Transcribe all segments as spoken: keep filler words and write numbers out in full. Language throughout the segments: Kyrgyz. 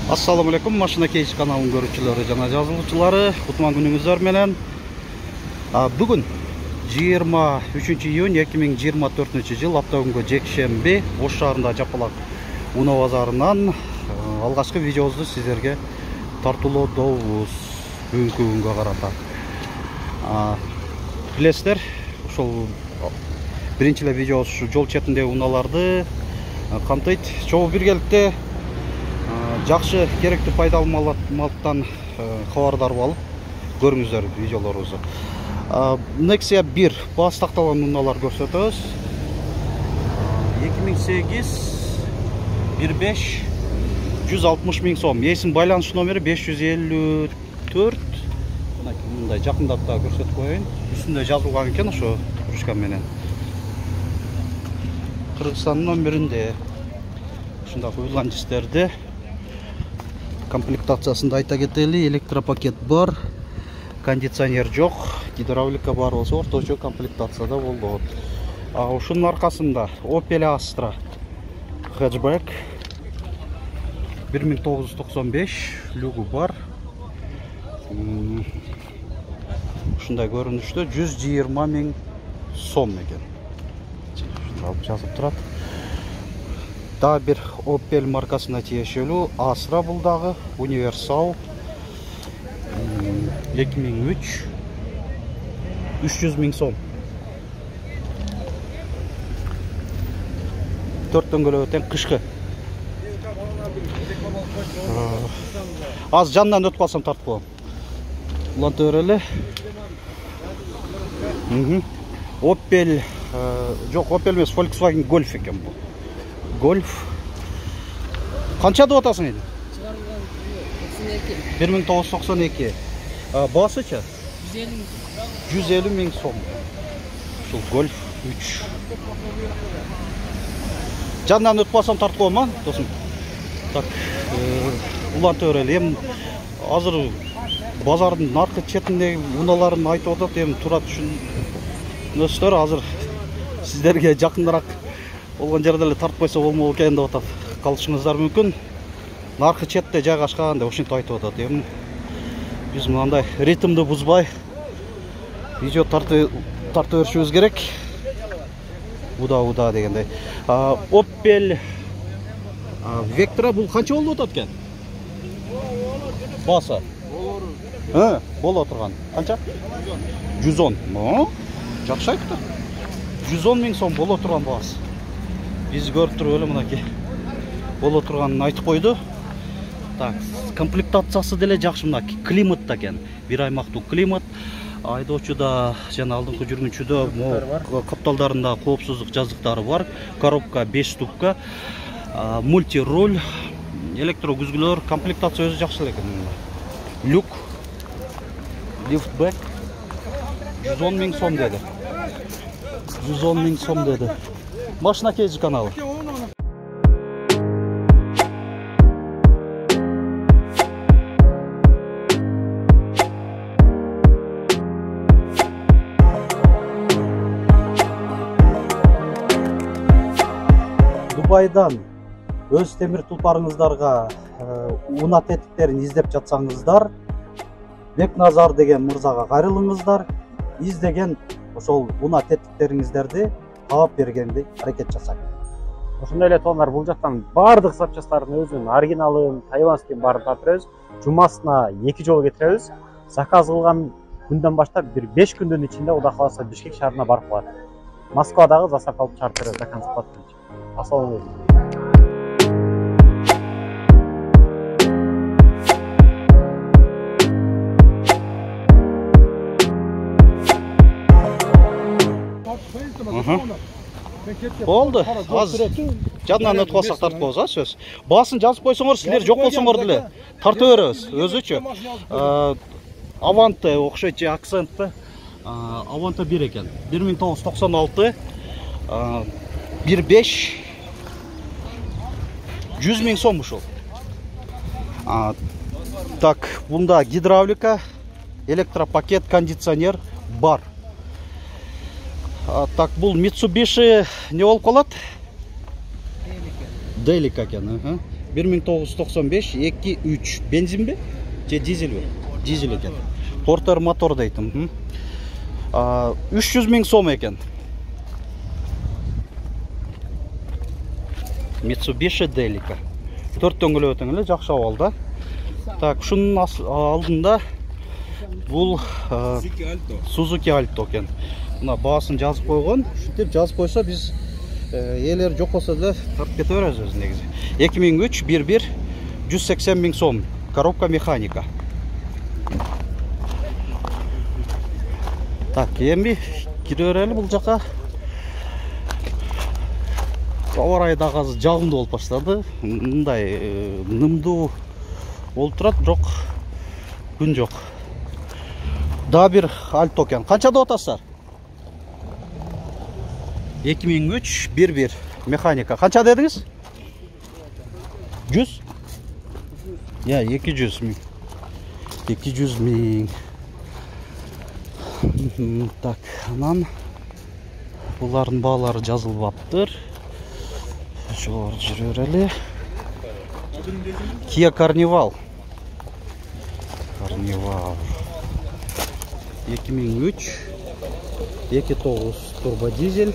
Assalamu alaikum, Машина Кейс каналынын көрүүчүлөрү жана жазылуучулары, кутман күнүңүздөр менен. Бүгүн жыйырма үчүнчү июнь эки миң жыйырма төртүнчү жыл апта күнгө жекшемби Ош шаарында Жапалак унаа базарынан алгачкы видеобузду сиздерге тартуулоодобуз бүгүнкү күнгө карата. Билесиздер, ошол биринчи эле видеобуз ушу жол четиндеги унааларды камтыйт. Чогуу биргеликте жакшы керектүү пайдалуу маалыматтан кабардар болуп көрүңүздөр видеолорубузду. Nexia бир баасы такталган унаалар көрсөтөбүз. эки миң сегиз бир беш жүз алтымыш миң сом. Эсим байланыш номери беш жүз элүү төрт. Мындай жакындап да көрсөтүп коеюн. Үстүндө жазылган экен ошо ручка менен. Кыргызстандын номеринде ушундай уйланчыстерди. Комплектациясында айта кетели, электропакет бар, кондиционер жок, гидравлика бар болсо орточо комплектацияда болот. А ушунун аркасында Opel Astra хэтчбэк бир миң тогуз жүз токсон беш люгу бар. Ушундай көрүнүштө жүз жыйырма миң сом экен. Жазып турат. Да бир Opel маркасына тиешелүү Astra бул дагы универсал эки миң үч үч жүз миң сом. төрт дөңгөлөккө тең кышкы. Аз жанынан өтүп калсам тартып коем. Уланта берели. Opel жок, Opel эмес, Volkswagen Golf экен бул. Golf. Канча деп атасың эди? бир миң тогуз жүз токсон эки. Басычы? жүз элүү миң сом. Ушул Golf үч. Жанынан өтүп калсам тартып коем, а, досум. Так, уланта берели. Эми азыр базардын наркы четиндеги унааларын айтып атат, эми тура түшүнөсүздөр. Азыр сиздерге жакыныраак болгон жерде эле тартып койсо болмок экен деп атат. Калышыңыздар мүмкүн. Наркы четте жайгашкан деп ушинтип айтып атат. Эми биз мындай ритмди бузбай видео тартып тарта беришибиз керек. Уда-уда дегендей. Opel Vectra бул канча болуп атат экен? Баса. Ха, боло турган. Канча? жүз он. Мо? Жакшы айтты. жүз он миң сом боло турган баасы. Биз көрүп туруп эле мынакей боло турганын айтып койду. Так, комплектациясы деле жакшы, мына климат да экен. Бир аймактуу климат. Айдоочуда жана алдыңкы жүргүнчүдө капталдарында коопсуздук жазыктары бар. Коробка беш ступка, мульти руль, электро күзгүлөр, комплектация өзү жакшы экен. Люк, лифтбэк жүз он миң сом деди. жүз он миң сом деди. Машина Кейс каналы. Дубайдан өз темир тулпарыңыздарга унаа тетиктерин издеп жатсаңыздар, Бекназар деген мырзага кайрылыңыздар. Издеген ошол унаа тетиктериңиздерди таап бергенди аракет жасайм. Ошондой эле тооналар бул жактан баардык запчасттардын өзүнүн оригиналын, тайваньскин баарын тапырабыз. Жумасына эки жолу кетиребиз. Заказ кылган күндөн баштап бир беш күндүн ичинде Кудай кааласа Бишкек шаарына барып калат. Москвадагы заставка алып чыгарып беребиз заказ кылып. Ассалам Болду. Аз жанынан өтүп калсак тартып коебуз, а сөз. Баасын жазып койсоңор, силер жок болсоңор деле тартып беребиз өзүчө. Avante окшойт же акцентти. Avante бир экен. бир миң тогуз жүз токсон алты. бир беш жүз миң сом ушул. Так, бунда гидравлика, электропакет, кондиционер бар. Так, бул Mitsubishi не болуп калат? Делика экен, бир миң тогуз жүз токсон беш эки үч бензинби же дизельби? Дизель экен. Портер мотор дейт. үч жүз миң сом экен. Mitsubishi Delica. төрт дөңгөлөк эле жакшы абалда. Так, шунун алдында бул Suzuki Alto экен. Мына баасын жазып койгон. Ушинтип жазып койсо биз элер жок болсо деле тартып кете беребиз өзү негизи. эки миң үч бир бир жүз сексен миң сом. Коробка механика. Так, эми кире берели бул жака. Аба ырайы дагы азыр жагымдуу болуп баштады. Мындай нымдуу болуп турат, бирок күн жок. Дагы бир Alto экен. Канча деп атасыздар? эки миң үч бир бир механика. Канча дедиңиз? жүз? Я, эки жүз миң. эки жүз миң. Так, анан булардын баалары жазылбаптыр. Жогору жүрө берели. Kia Carnival. Carnival. эки миң үч эки тогуз турбо дизель.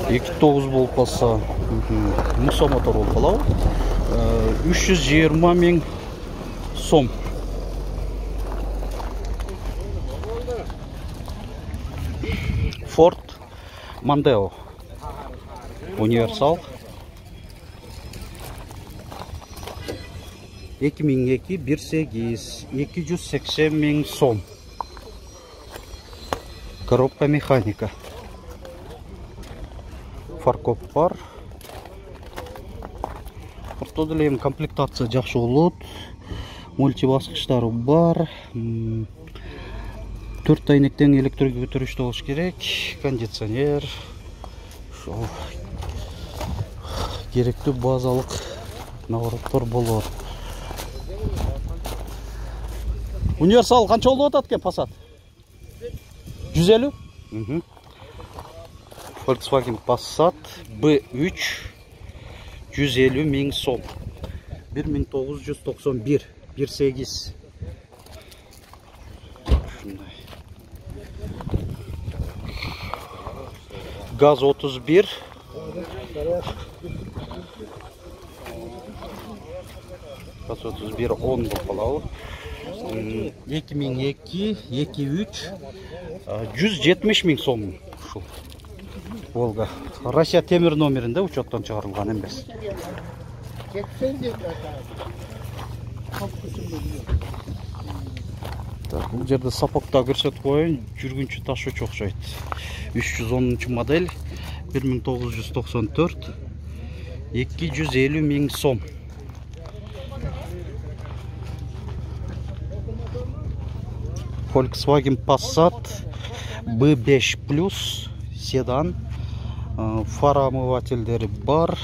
эки тогуз болуп калса, мусо мотор болуп калабы. үч жүз жыйырма миң сом. Ford Mondeo универсал эки миң эки бир сегиз эки жүз сексен миң сом. Коробка механика. Фаркоп бар. Орто деле эми комплектация жакшы болот. Мульти баскычтары бар. төрт айнектен электрге көтөрүштүү болуш керек. Кондиционер. Ошол керектүү базалык навороттор болот. Универсал канча болуп атат экен Passat? жүз элүү? Volkswagen Passat бэ үч жүз элүү миң сом. бир миң тогуз жүз токсон бир бир сегиз. Ушундай. Газ отуз бир. Газ отуз бир он болуп калабы. эки миң эки эки үч жүз жетимиш миң сом. Ушул Волга. Россия темир номеринде учеттон чыгарылган эмес. Так, бул жерде сапокта көрсөтүп коеюн. Жүргүнчү ташуучу окшойт. үч жүз онунчу модель, бир миң тогуз жүз токсон төрт, эки жүз элүү миң сом. Volkswagen Passat бэ беш плюс седан. Фара омывательдери бар.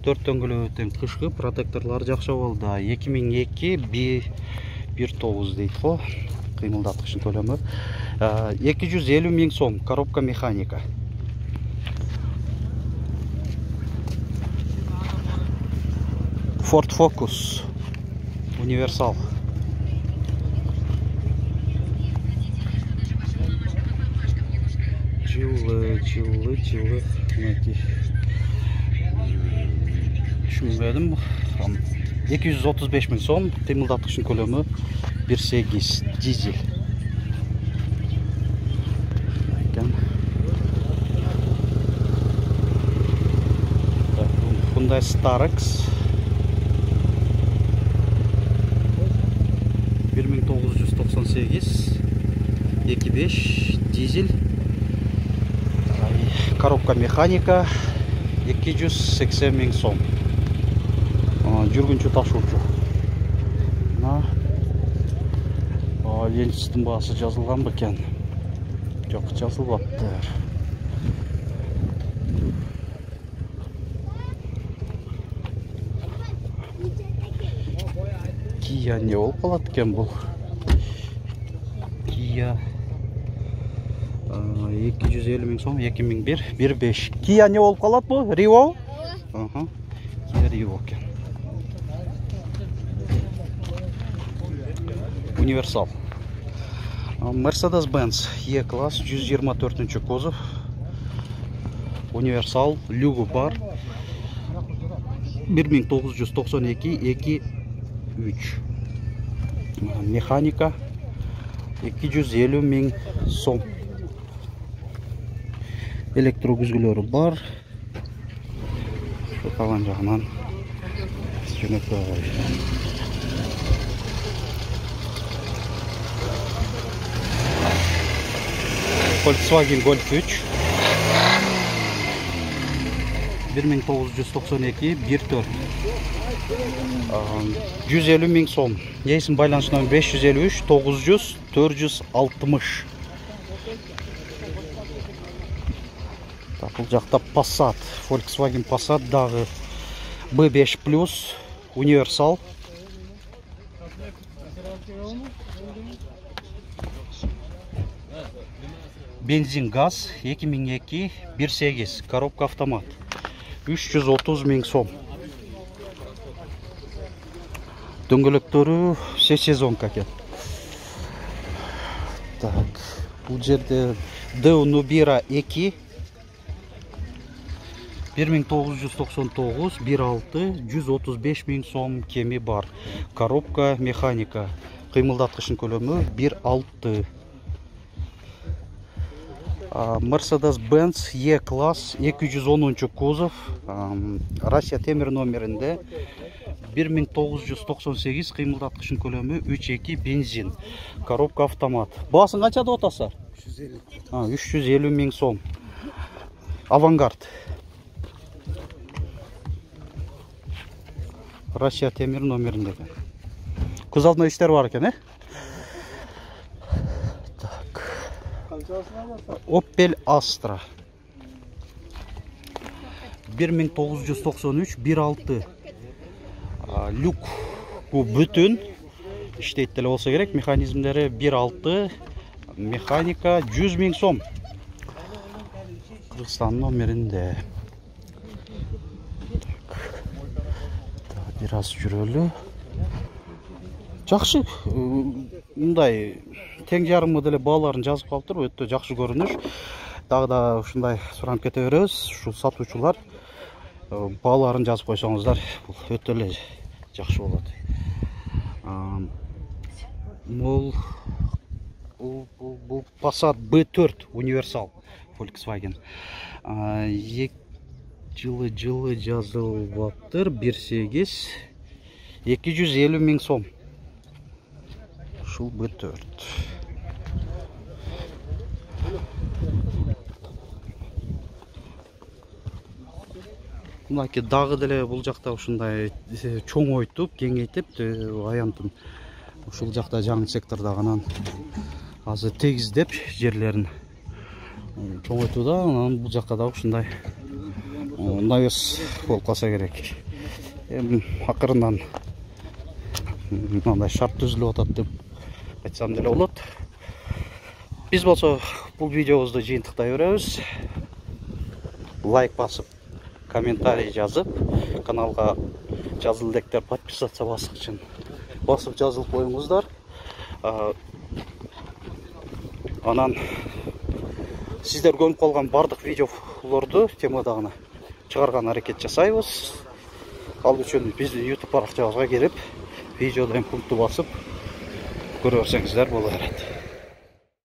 төрт дөңгөлөктөн кышкы протекторлор жакшы болду. эки миң эки бир тогуз дейт го. Кыймылдаткычын көлөмү. эки жүз элүү миң сом. Коробка механика. Ford Focus универсал. Жылы, жылы, жылы. Түшүнбөдүм. эки жүз отуз беш миң сом. Кыймылдаткычын көлөмү бир сегиз дизель. Hyundai Starex бир миң тогуз жүз токсон сегиз эки беш дизель. Коробка механика эки жүз сексен миң сом. Жүргүнчү ташуучу. Ленчистин баасы жазылган бекен? Жок, жазылбаптыр. Kia не болуп калат экен бул? Kia эки жүз элүү миң сом, эки миң бир бир беш. Kia не болуп калат бу? Rio? Ага. Рио экен. Универсал. Mercedes-Benz E-класс жүз жыйырма төртүнчү кузов. Универсал люгу бар. бир миң тогуз жүз токсон эки эки үч. Механика эки жүз элүү миң сом. Электрогүзгүлөрү бар. Калган жагынан жөнөкөй. Volkswagen Golf үч. бир миң тогуз жүз токсон эки бир төрт. жүз элүү миң сом. Эсин байланыш номер беш жүз элүү үч тогуз жүз төрт жүз алтымыш. Бул жакта Passat, Volkswagen Passat дагы бэ беш плюс универсал. Бензин газ эки миң эки бир сегиз, коробка автомат. үч жүз отуз миң сом. Дөңгөлөктөрү все сезонка экен. Так, бул жерде Deo Nubira эки бир миң тогуз жүз токсон тогуз бир алты жүз отуз беш миң сом кеми бар. Коробка механика. Кыймылдаткычтын көлөмү бир алты. Mercedes-Benz E-класс эки жүз онунчу кузов. Россия темир номеринде бир миң тогуз жүз токсон сегиз, кыймылдаткычтын көлөмү үч эки бензин. Коробка автомат. Баасын канча деп атасыздар? үч жүз элүү миң сом. Авангард. Россия темир номеринде. Көз алдында иштер бар экен, э? Opel Astra бир миң тогуз жүз токсон үч бир алты. Люк бу бүтүн иштейт деле болсо керек. Механизмдери бир алты. Механика жүз миң сом. Кыргызстан номеринде. Бир аз жүрөлү. Жакшы, мындай тең жарымы деле бааларын жазып калыптыр, өтө жакшы көрүнүш. Дагы да ушундай суранып кете беребиз. Ушу сатуучулар бааларын жазып койсоңуздар, бул өтө эле жакшы болот. Бул бул Passat бэ төрт универсал Volkswagen. Жылы жылы жазылыптыр, бир сегиз эки жүз элүү миң сом. Ушул бэ төрт. Мынакей дагы деле бул жакта ушундай чоңойтуп, кеңейтип, аянтын ушул жакта жаңы сектордагы анан азыр тегиздеп жерлерин чоңойтууда, анан бул жакка да ушундай навес болуп калса керек. Эми акырындан мындай шарт түзүлүп атат деп айтсам деле болот. Биз болсо бул видеобузду жыйынтыктай беребиз. Лайк басып, комментарий жазып, каналга жазыл электер подписаться баскычын басып жазылып коюңуздар. Анан сиздер көнүп калган бардык видеолорду темадагына чыгарган аракет жасайбыз. Ал үчүн биздин YouTube баракчабызга кирип, видеодон пункту басып көрө берсеңиздер боло берет.